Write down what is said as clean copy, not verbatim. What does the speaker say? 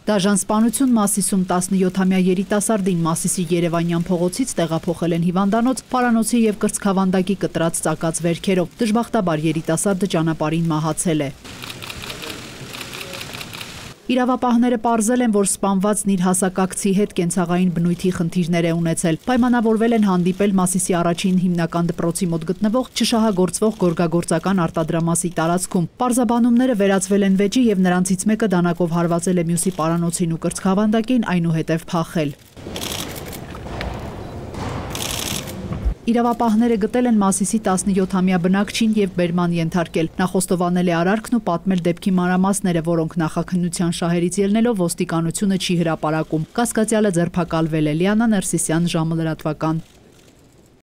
Դաժան սպանություն Մասիսում 17-ամյա երիտասարդին Մասիսի Երևանյան փողոցից տեղափոխել են հիվանդանոց պարանոցի եւ կրծքավանդակի կտրած ծակած վերքերով։ Դժբախտաբար երիտասարդը ճանապարհին մահացել է։ Իրավապահները պարզել են, որ սպանվածն իր հասակակցի հետ կենցաղային բնույթի խնդիրներ է ունեցել։ Պայմանավորվել են հանդիպել Մասիսի առաջին հիմնական դպրոցի մոտ գտնվող չշահագործվող գորգագործական արտադրամասի տարածքում։ Պարզաբանումները վերածվել են վեճի եւ նրանցից մեկը դանակով հարվածել է մյուսի պարանոցին ու կրծքավանդակին, այնուհետև փախել։ Իրավապահները գտել են Մասիսի 17-ամյա բնակչին եւ բերման ենթարկել։ Նա խոստովանել է արարքն ու պատմել դեպքի մանրամասները, որոնք նախաքննության շահերից ելնելով ոստիկանությունը չի հրապարակում։ Կասկածյալը ձերբակալվել է։ Լիանա Ներսիսյան, ժամը լրատվական։